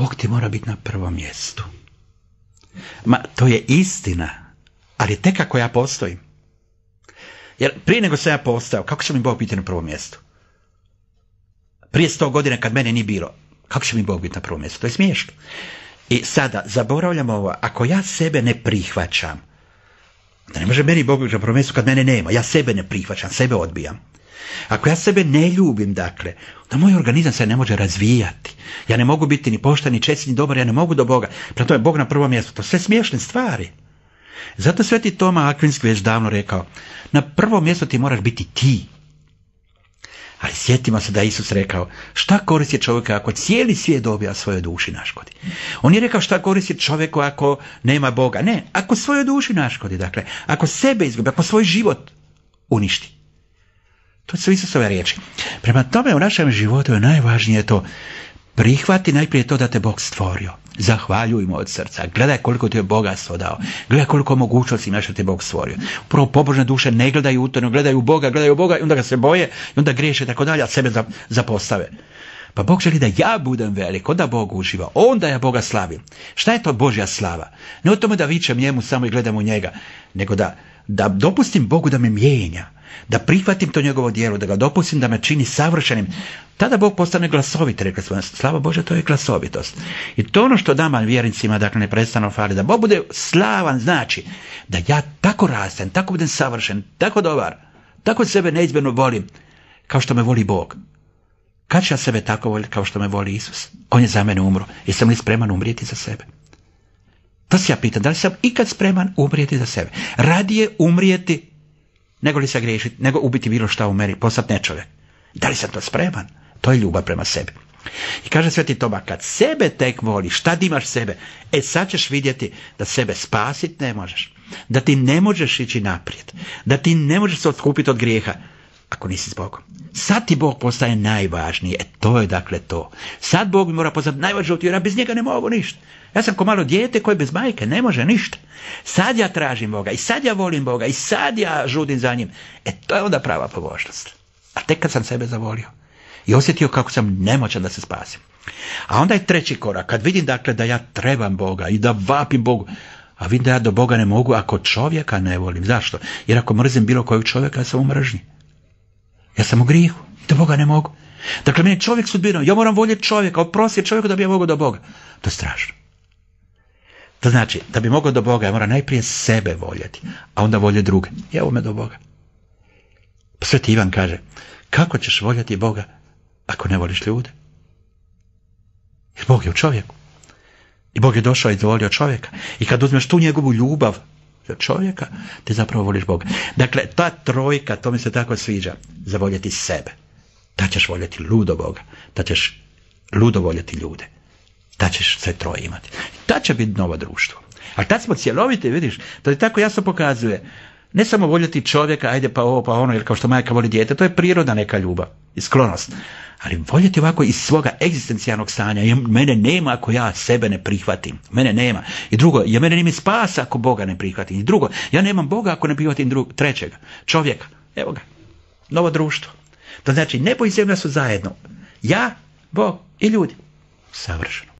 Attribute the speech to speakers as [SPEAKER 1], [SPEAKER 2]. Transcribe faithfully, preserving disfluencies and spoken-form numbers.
[SPEAKER 1] Bog ti mora biti na prvom mjestu. Ma, to je istina, ali tek ako ja postojim. Jer prije nego sam ja postao, kako će mi Bog biti na prvom mjestu? Prije sto godina kad mene nije bilo, kako će mi Bog biti na prvom mjestu? To je smiješno. I sada, zaboravljam ovo, ako ja sebe ne prihvaćam, da ne može meni Bog biti na prvom mjestu kad mene nema, ja sebe ne prihvaćam, sebe odbijam. Ako ja sebe ne ljubim, dakle, da moj organizam se ne može razvijati. Ja ne mogu biti ni pošten, ni čestit, ni dobar, ja ne mogu do Boga. Prema tome, Bog na prvom mjestu. To su sve smiješne stvari. Zato Sveti Toma Akvinski već davno rekao, na prvom mjestu ti moraš biti ti. Ali sjetimo se da je Isus rekao, šta koristi čovjeka ako cijeli svijet dobija svojoj duši naškodi? On je rekao šta koristi čovjeku ako nema Boga? Ne, ako svojoj duši naškodi, dakle, ako sebe izgubi, ako svoj život uništi. To su Isusove riječi. Prema tome u našem životu je najvažnije to prihvati najprije to da te Bog stvorio. Zahvaljujmo od srca. Gledaj koliko ti je bogatstvo dao. Gledaj koliko mogućnosti imaš da te Bog stvorio. Upravo pobožne duše ne gledaju u to, ne gledaju u Boga, gledaju u Boga i onda ga se boje i onda griješe i tako dalje, a sebe zapostave. Pa Bog želi da ja budem velik, onda Bog uživa, onda ja Boga slavim. Šta je to Božja slava? Ne o tome da vičem njemu samo i gledam u njega, nego da, da dopustim Bogu da me mijenja, da prihvatim to njegovo djelo, da ga dopustim da me čini savršenim. Tada Bog postane glasovit, rekli smo, slava Božja, to je glasovitost. I to ono što nama vjernicima, dakle, ne prestano fali, da Bog bude slavan, znači da ja tako rastem, tako budem savršen, tako dobar, tako sebe neizmjerno volim, kao što me voli Bog. Kad ću ja sebe tako voliti kao što me voli Isus? On je za mene umro. Jesam li spreman umrijeti za sebe? To se ja pitam, da li sam ikad spreman umrijeti za sebe? Radije umrijeti nego li se griješiti, nego ubiti bilo šta u meni, postati nečovjek. Da li sam to spreman? To je ljubav prema sebi. I kaže Sveti Toma, kad sebe tek voliš, šta imaš sebe? E sad ćeš vidjeti da sebe spasiti ne možeš. Da ti ne možeš ići naprijed. Da ti ne možeš se odkupiti od grijeha ako nisi s Bogom. Sad ti Bog postaje najvažniji. E to je dakle to. Sad Bog mi mora postati najvažniji, jer ja bez njega ne mogu ništa. Ja sam ko malo dijete koje bez majke ne može ništa. Sad ja tražim Boga i sad ja volim Boga i sad ja žudim za njim. E to je onda prava pobožnost. A tek kad sam sebe zavolio i osjetio kako sam nemoćan da se spasim. A onda je treći korak. Kad vidim dakle da ja trebam Boga i da vapim Bogu, a vidim da ja do Boga ne mogu ako čovjeka ne volim. Zašto? Jer ako mrzim bilo kojeg čovjeka, ja sam u mržnji. Ja sam u grijehu i do Boga ne mogu. Dakle, meni je čovjek sudbina. Ja moram voljeti čovjeka, oprostiti čovjeku da bi ja mogao do Boga. To je strašno. To znači, da bi mogao do Boga, ja moram najprije sebe voljeti, a onda volje druge. I evo me do Boga. Pa Sveti Ivan kaže, kako ćeš voljeti Boga ako ne voliš ljude? Jer Bog je u čovjeku. I Bog je došao i zavolio čovjeka. I kad uzmeš tu njegovu ljubav za čovjeka, ti zapravo voliš Boga. Dakle, ta trojka, to mi se tako sviđa, zavoljeti sebe. Da ćeš voljeti ludo Boga, da ćeš ludo voljeti ljude. Da ćeš sve troje imati. Da će biti novo društvo. Ali tad smo cjeloviti, vidiš, to je tako jasno pokazuje. Ne samo voljeti čovjeka, ajde pa ovo pa ono, jer kao što majka voli dijete, to je priroda neka ljubav i sklonost. Ali voljeti ovako iz svoga egzistencijalnog stanja, jer mene nema ako ja sebe ne prihvatim. Mene nema. I drugo, jer mene nema spasa ako Boga ne prihvatim. I drugo, ja nemam Boga ako ne prihvatim drug, trećega, čovjeka. Evo ga, novo društvo. To znači, nebo i zemlja su zajedno. Ja, Bog i ljudi. Savršeno.